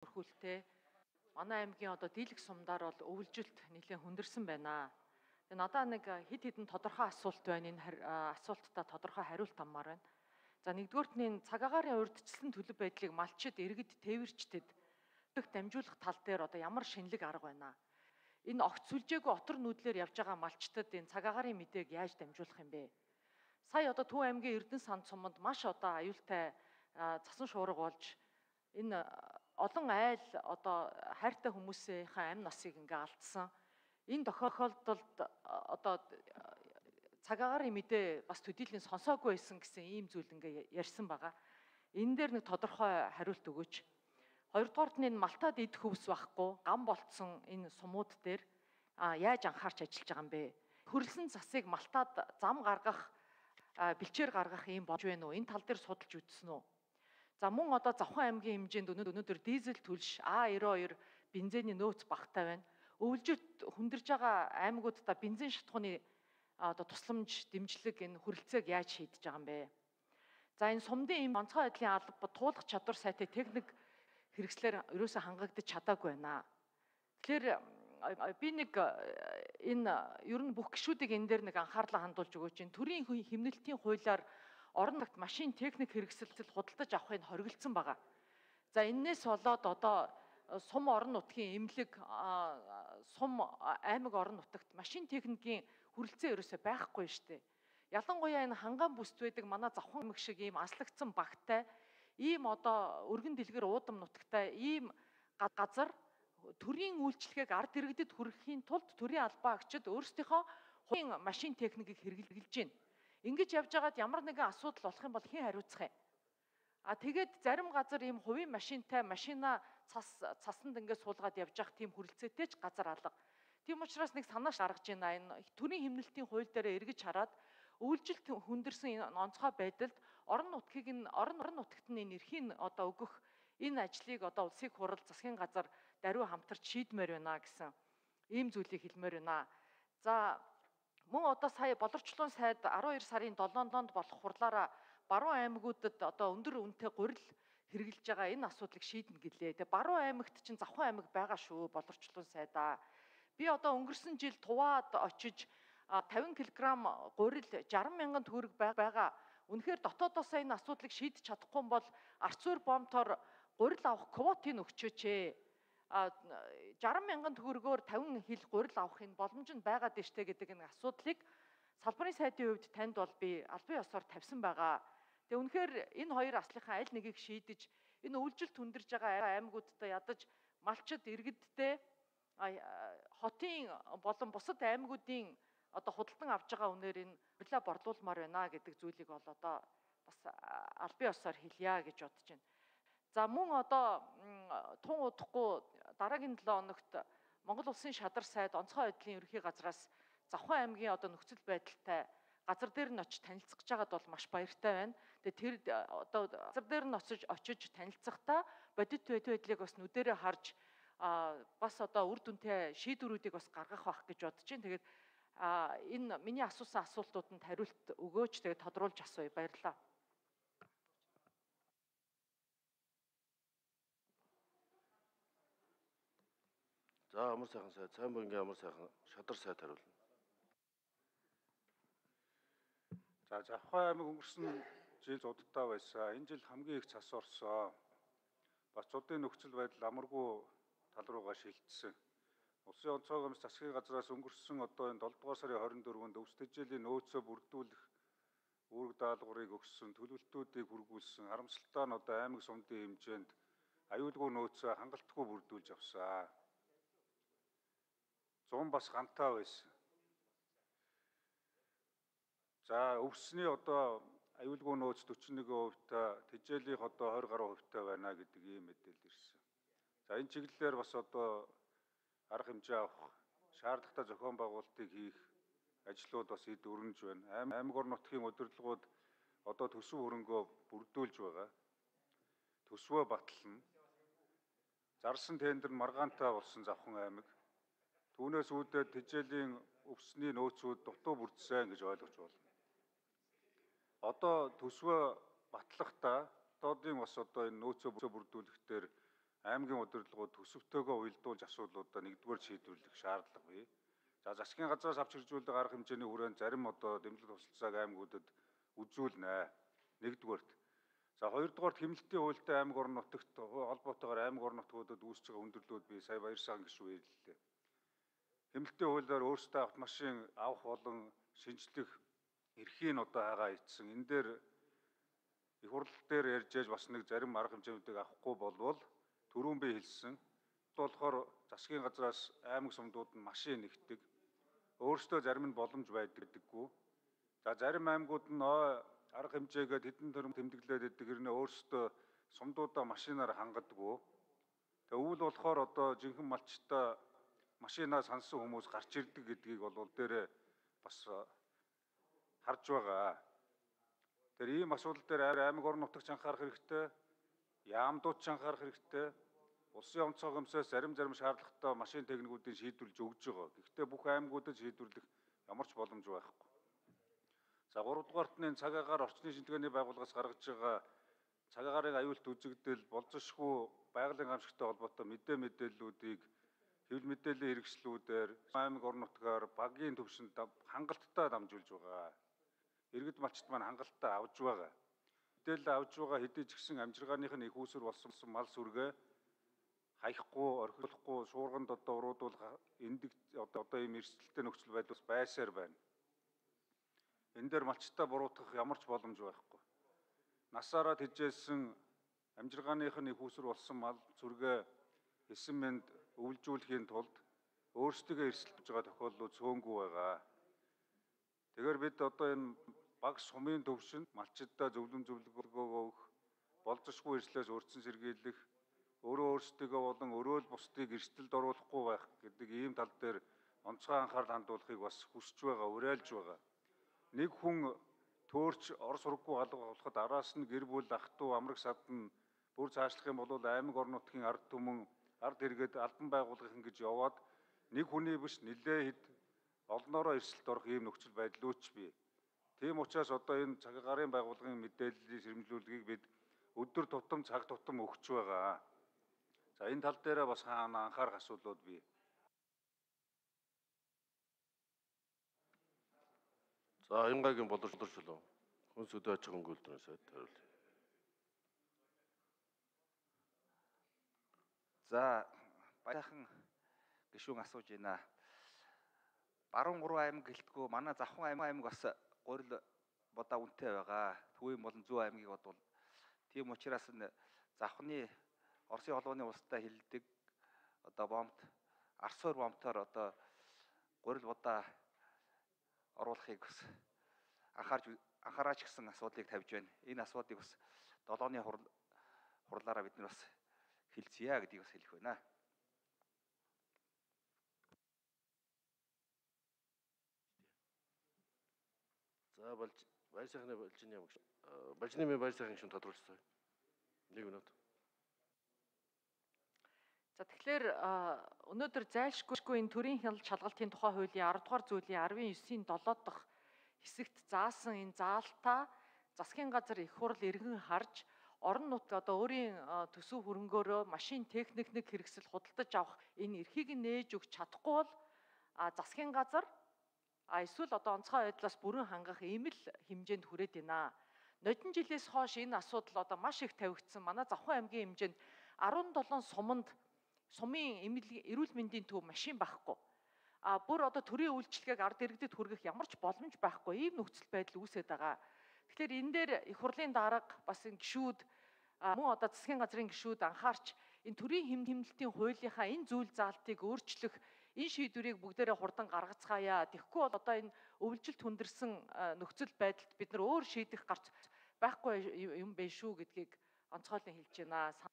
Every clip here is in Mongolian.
Өрхүүлтэй манай аймгийн одоо дийлэх сумдаар бол өвлжилт нэлээд хүндэрсэн байна. Тэгээ надаа нэг хэд хэдэн тодорхой асуулт байна. Энэ асуулттай тодорхой хариулт аммаар байна. За нэгдүгüүрт нь цаг агаарын урьдчилсан төлөв байдлыг малчид, иргэд, тээвэрчдэд дамжуулах тал дээр одоо ямар шинэлэг арга байна. Энэ огт сүлжээгүй отор нүүдлэр явж байгаа малчдад энэ цаг агаарын мэдээг яаж дамжуулах юм бэ? Сая одоо Төв аймгийн Эрдэнэ сан цуманд маш одоо аюултай цасан шуурга болж энэ олон айл одоо хайртай хүмүүсийнхээ амь насыг ингээ алдсан. Энэ тохиолдолд одоо цаг агаарын мэдээ бас төдийлөн сонсоогүй байсан гэсэн ийм зүйл ингээ ярьсан байгаа. Энэ дээр нэг тодорхой хариулт өгөөч. Хоёрдугаарт нь энэ малтаад идэх хөвс байхгүй гам болцсон энэ сумууд дээр яаж анхаарч ажиллаж байгаа юм бэ? Хөрөлсөн засыг малтаад зам гаргах, бэлчээр гаргах юм болж байна уу? Энэ тал дээр судалж үзсэн үү? За мөн одоо Завхан аймгийн хэмжээнд өнөөдөр дизель түлш А92 бензиний нөөц багтаа байна. Өвлжилт хүндэрж байгаа аймагуудаа бензин шатхууны одоо тусламж, дэмжлэг энэ хүрэлцээг яаж шийдэж байгаа юм бэ? За энэ сумдын ийм онцгой байдлын алба туулах чадвар сайтай техник хэрэгслэр ерөөсөө хангагдаж чадаагүй байна. Тэгэхээр би нэг энэ ер нь бүх гишүүдийг энэ дээр нэг анхаарлаа хандуулж өгөөч. Энэ төрийн хэмнэлтийн хуулиар орон нутагт машин техник хэрэгсэлд худалдаж авахыг хориглосон байгаа. За энээс болоод одоо сум орон нутгийн эмнэлэг, сум аймаг орон нутагт машин техникийн хүрэлцээ ерөөсөй байхгүй шүү дээ. Ялангуяа энэ хангаан бүсд байдаг манай Завхан аймаг шиг ийм аслагдсан багтай, ийм одоо өргөн дэлгэр уудам нутагтай ийм газар төрийн үйлчлэгийг ард иргэдэд хүргэхийн тулд төрийн албаа агчид өөрсдийнхөө хувийн машин техникийг хэрэглэж байна. Ингэж явж байгаад ямар нэгэн асуудал болох юм бол хэн хариуцах юм? Тэгээд зарим газар ийм хувийн машинтай машина цасанд ингээд суулгаад явж явах тийм хүрэлцээтэй ч газар алга. Тийм учраас нэг санааш гаргаж байна. Энэ төрийн хэмнэлтийн хууль дээр эргэж хараад өвлжилт хүндэрсэн энэ онцгой байдалд орон нутгад нь энэ эрхийн одоо өгөх энэ ажлыг одоо улсыг хурал засгийн газар даруй хамтарч шийдмээр байна гэсэн ийм зүйлийг хэлмээр байна. За мөн одоо сая боловсролын сайд 12 сарын 7-нд болох хурлаараа баруун аймагуудад одоо өндөр үнэтэй гурил хэрэгжилж байгаа энэ асуудлыг шийднэ гэлээ. Тэгээ баруун аймагт чинь Завхан аймаг байгаа шүү боловсролын сайдаа. Би одоо өнгөрсөн жил Туваад очиж 50 кг гурил 60 мянган төгрөг байгаа. Үнэхээр дотоодоос энэ асуудлыг шийдэж чадахгүй юм бол арцуур бомтоор гурил авах квотыг өгчөөч ээ. 60 мянган төгрөгөөр 50 хил гурил авахын боломж нь байгаад дэжтэй гэдэг энэ асуудлыг салбарын сайдын хувьд танд бол би албан ёсоор тавьсан байгаа. Тэгээ үнэхээр энэ хоёр аслынхаа аль нэгийг шийдэж энэ өвлжилт хүндэрж байгаа аймагуудад ядаж малчид иргэдтэй хотын болон бусад аймагуудын одоо худалдан авж байгаа үнээр энэ гурилаа борлуулмаар байна гэдэг зүйлийг бол одоо бас албан ёсоор хэлье гэж бодож байна. За мөн одоо тун удахгүй дараагийн 7 хоногт Монгол Улсын шадар сайд онцгой байдлын ерөнхий газраас Завхан аймгийн одоо нөхцөл байдалтай газар дээр нь очиж танилцах жагаад бол маш баяртай байна. Тэгээ тэр одоо газар дээр нь очиж танилцахдаа бодит байдлыг бас нүдэрээ харж бас одоо үр дүнтэй шийдвэрүүдийг бас гаргах байх гэж бодож байна. Тэгээд энэ миний асуусан асуултууданд хариулт өгөөч. Тэгээд тодруулж асууя. Баярлалаа. За амар сайхан сайд, сайн бангийн амар сайхан шадар сайд хариулна. За Завхан аймаг өнгөрсөн жил зудалтай байсан. Энэ жил хамгийн их цас орсон. Бас зуудын нөхцөл байдал амаргүй тал руугаа шилжсэн. Улсын онцгой гомс засгийн газраас өнгөрсөн одоо энэ 7 дугаар сарын 24-нд өвс тэжээлийн нөөцөө бүрдүүлэх үүрэг даалгаврыг өгсөн, төлөвлөлтүүдийг хүргүүлсэн. Харамсалтай нь одоо аймаг сумдын хэмжээнд аюулгүй нөөцөө хангалтгүй бүрдүүлж авсан. 100 бас гантаа байсан. За өвсний одоо аюулгүй нөөц 41%, тэжээлийнх одоо 20 гаруй хувьтай байна гэдэг ийм мэдээлэл ирсэн. За энэ чиглэлээр бас одоо арга хэмжээ авах, шаардлагатай зохион байгуулалтыг хийх ажлууд бас эд өрнөж байна. Аймаг орон нутгийн удирдлагууд одоо төсөв хөрөнгөө бүрдүүлж байгаа. Төсвөө батлана. Зарсан тендер маргаантай болсон Завхан аймаг. Түүнээс үүдээд тэжээлийн өвсний нөөцүүд дутуу бүрдсэн гэж ойлгож байна. Одоо төсвөө батлахдаа дотоодын бас одоо энэ нөөцөө бүрдүүлэхдээ аймгийн удирдлагууд төсөвтөөгөө уялдуулж асуудлуудаа нэгдүгээр шийдвэрлэх шаардлага бий. За засгийн газраас авч хэрэгжүүлдэг арга хэмжээний хүрээнд зарим дэмжлэг тусалцааг аймагуудад үзүүлнэ. Нэгдүгээрт. За хоёрдугаарт хэмнэлтийн хуультай аймаг орон нутагт холбоотойгоор аймаг орон нутгуудад үүсэж байгаа хүндрэлүүд би сая Баярсахан гишүүн хэллээ. Хэмнэлтийн хуулиар өөрсдөө автомашин авах болон шинжлэх эрхийг хагаа ицсэн. Энэ дээр их хурл дээр ярьж яж бас нэг зарим арга хэмжээнүүдийг авахгүй болвол түрүүн би хэлсэн болохоор засгийн газраас аймаг сумдууд нь машин нэгтдэг. Өөрсдөө зарим нь боломж байдаггүй. За зарим аймагуд нь арга хэмжээгээд хэдэн төрөм тэмдэглээд байдаг хэрнээ өөрсдөө сумдуудаа машинаар хангадаггүй. Тэгээ үүл болохоор жинхэнэ малчтаа машинаа сансан хүмүүс гарч ирдэг гэдгийг бол дээрээ бас харж байгаа. Тэр ийм асуудал дээр аймаг орон нутагч анхаарах хэрэгтэй, яамдууд ч анхаарах хэрэгтэй. Улсын онцгой хэмжээс зарим шаардлагатай машин техникүүдийг шийдвэрлэж өгж байгаа. Гэхдээ бүх аймагуудад шийдвэрлэх ямар ч боломж байхгүй. За 3 дугаарт нь цаг агаар орчны шинжилгээний байгууллагаас гаргаж байгаа цаг агаарын аюулт үзэгдэл болзошгүй байгалийн гамшигтай холбоотой мэдээллүүдийг хэвлэл мэдээллийн хэрэгслүүдээр аймаг орон нутгаар багийн төвшөнд хангалттай дамжуулж байгаа. Иргэд малчт маань хангалттай авж байгаа. Мэдээлэл авж байгаа хэдий ч гэсэн амжиргааных нь их үүсвэр болсон мал сүргээ хаяхгүй, орхиулахгүй, шуурганд уруудуулах эндэг ийм эрсдэлтэй нөхцөл байдал байсаар байна. Энэ дээр малчтаа буруутгах ямар ч боломж байхгүй. Насаараа тэжээсэн амжиргааных нь их үүсвэр болсон мал сүргээ эсэн мэнд өвлжүүлэхийн тулд өөрсдөө эрсэлж байгаа тохиолдлууд цөөнгүй байгаа. Тэгэхээр бид энэ баг сумын төвшөнд малчтаа зөвлөмж өгөх, болзошгүй эрслээс урьдчилан сэргийлэх, өөрсдөө болон өрөөл бусдыг эрсдэлд оруулахгүй байх гэдэг ийм тал дээр онцгой анхаарал хандуулахыг бас хүсэж байгаа, уриалж байгаа. Нэг хүн төөрч ор сургахгүй халуулахад араас нь гэр бүл, ах トゥ амраг садан бүр цаашлах юм бол аймаг орон нутгийн ард түмэн, ард иргэд, албан байгууллагын гэж яваад нэг хүний биш нэлээд олноороо эрсдэлд орох ийм нөхцөл байдал үүч бий. Тийм учраас энэ цаг агаарын байгууллагын мэдээллийн сэрэмжлүүлгийг бид өдөр тутам цаг тутам өгч байгаа. За энэ тал дээр бас анхаарах асуудлууд бий. За Янгагийн боловсруулах хүнс өдөө аж ахуйн үйлдвэрийн сайд хариулъя. За баярхан гишүүн асууж байна. Баруун 3 аймаг гэлтгүү манай Завхан аймаг бас гурил бодаа үнэтэй байгаа. Төвийн болон Зүү аймгийг бодвол тийм учраас Завхны Оросын холбооны улстай хилдэг бомбт Арсуур бомбтоор гурил бодаа оруулахыг бас анхаараач гэсэн асуудлыг тавьж байна. Энэ асуудлыг бас 7-ны хурлаараа бид нар бас хэлцгээе гэдгийг бас хэлэх байна. За Баярсахны Балжины ямагш. Балжины Баярсахын гишүүн тодруулцгаая. 1 минут. За тэгэхээр өнөөдөр зайлшгүй энэ төрийн хяналт шалгалтын тухай хуулийн 10 дугаар зүйлийн 19-ийн 7 дахь хэсэгт заасан энэ заалтаа засгийн газар их хурл иргэн харж орон нутаг өөрийн төсөв хөрөнгөөрөө машин техник хэрэгсэл худалдаж авах энэ эрхийг нээж өгч чадахгүй бол засгийн газар эсвэл онцгой байдлаас бүрэн хангах ийм л хэмжээнд хүрээд байна. Нодон жилээс хойш энэ асуудал маш их тавигдсан. Манай Завхан аймгийн хэмжээнд 17 сумын эрүүл мэндийн төв машин байхгүй. Бүр төрийн үйлчлэгийг ард иргэдэд хүргэх ямар ч боломж байхгүй. Ийм нөхцөл байдал үүсээд байгаа. Тэгэхээр энэ дээр их хурлын дарга бас энэ гишүүд мөн засгийн газрын гишүүд анхаарч энэ төрийн хэмнэлтийн хуулийнхаа энэ зүйл заалтыг өөрчлөх энэ шийдвэрийг бүгдээрээ хурдан гаргацгаая. Тэгэхгүй бол энэ өвлжилт хүндэрсэн нөхцөл байдалд бид нар өөр шийдэх гарч байхгүй юм бэ шүү гэдгийг онцгойлон хэлж байна.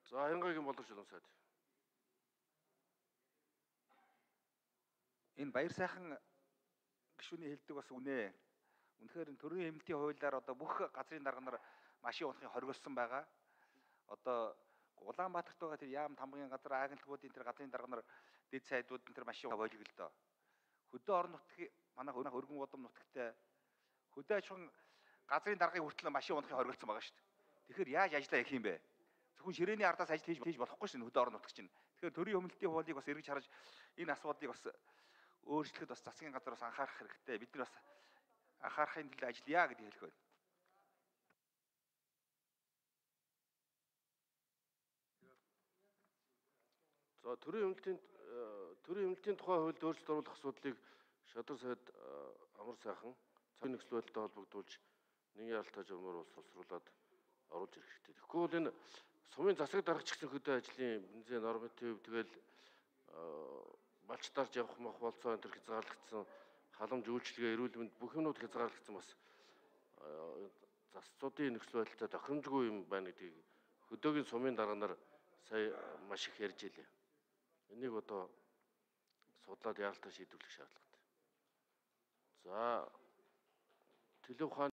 За Янгагийн боловсруулах сайд. Энэ Баярсайхан гишүүний хэлдэг бас үнэ. Үнэхээр төрийн хэмнэлтийн хуулиар бүх газрын дарга нар машин унахыг хоригдсон байгаа. Улаанбаатарт байгаа тэр яам тамгын газар агентлагуудын тэр газрын дарга нар дэд сайдууд энэ төр машин бойлог л доо. Хөдөө орон нутгийн манай өргөн удам нутагтай хөдөө аж ахуйн газрын даргыг хүртэл машин унахыг хоригдсон байгаа шүү дээ. Тэгэхээр яаж ажиллаа хийх юм бэ? Зөвхөн ширээний ардаас ажил хийж болохгүй шин хөдөө орон нутаг чинь. Тэгэхээр төрийн өмнөлтийн хуулийг бас эргэж харж энэ асуудлыг бас өөрчлөхөд бас засгийн газар бас анхаарах хэрэгтэй. Бид нар бас анхаарахын төлөө ажиллая гэдгийг хэлэх байна. За төрийн өмнөлтийн тухай хуульд өөрчлөлт оруулах асуудлыг шадар сайд амар сайхан цагийн нөхцөл байдалтай холбогдуулж нэгэн яралтай журмаар боловсруулад оруулж ирэх хэрэгтэй. Тэгэхгүй бол энэ сумын засаг даргач гэсэн хөдөө ажлын бензин норматив тэгэл балч дарж явах мах болцоо энэ төр хязгаарлагдсан халамж үйлчлэгээ эрүүл мэнд бүх юмнууд хязгаарлагдсан бас засцуудын нөхцөл байдалтай тохиромжгүй юм байна гэдгийг хөдөөгийн сумын дарга нар сая маш их ярьж илээ. Энийг одоо судлаад яралтай шийдвэрлэх шаардлагатай. За төлөв ухааны